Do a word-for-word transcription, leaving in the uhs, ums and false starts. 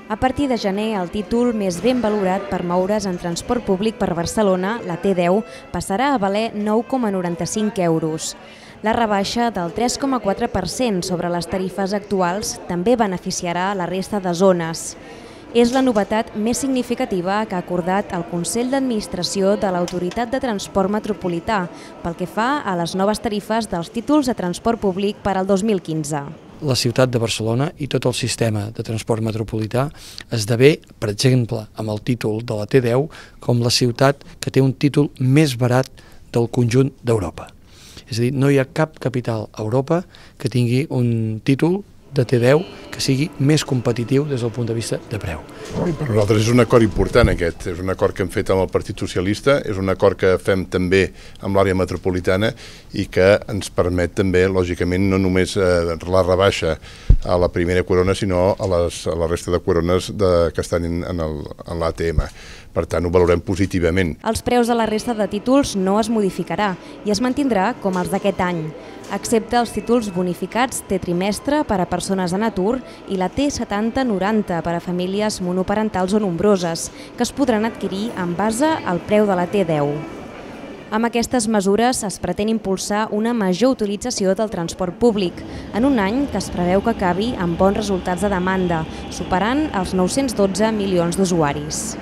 A partir de gener, el títol més ben valorat per moure's en transport públic per Barcelona, la T deu, passarà a valer nou coma noranta-cinc euros. La rebaixa del tres coma quatre per cent sobre les tarifes actuals també beneficiarà la resta de zones. És la novetat més significativa que ha acordat el Consell d'Administració de l'Autoritat de Transport Metropolità pel que fa a les noves tarifes dels títols de transport públic per al dos mil quinze. La ciutat de Barcelona i tot el sistema de transport metropolità esdevé, per exemple, amb el títol de la T deu, com la ciutat que té un títol més barat del conjunt d'Europa. És a dir, no hi ha cap capital a Europa que tingui un títol de T deu que sigui més competitiu des del punt de vista de preu. Per nosaltres és un acord important aquest, és un acord que hem fet amb el Partit Socialista, és un acord que fem també amb l'àrea metropolitana i que ens permet també, lògicament, no només la rebaixa a la primera corona, sinó a, les, a la resta de corones de, que estan en, en l'A T M. Per tant, ho valorem positivament. Els preus de la resta de títols no es modificarà i es mantindrà com els d'aquest any, excepte els títols bonificats T trimestre per a persones en atur i la T setanta noranta per a famílies monoparentals o nombroses, que es podran adquirir en base al preu de la T deu. Amb aquestes mesures es pretén impulsar una major utilització del transport públic, en un any que es preveu que acabi amb bons resultats de demanda, superant els nou-cents dotze milions d'usuaris.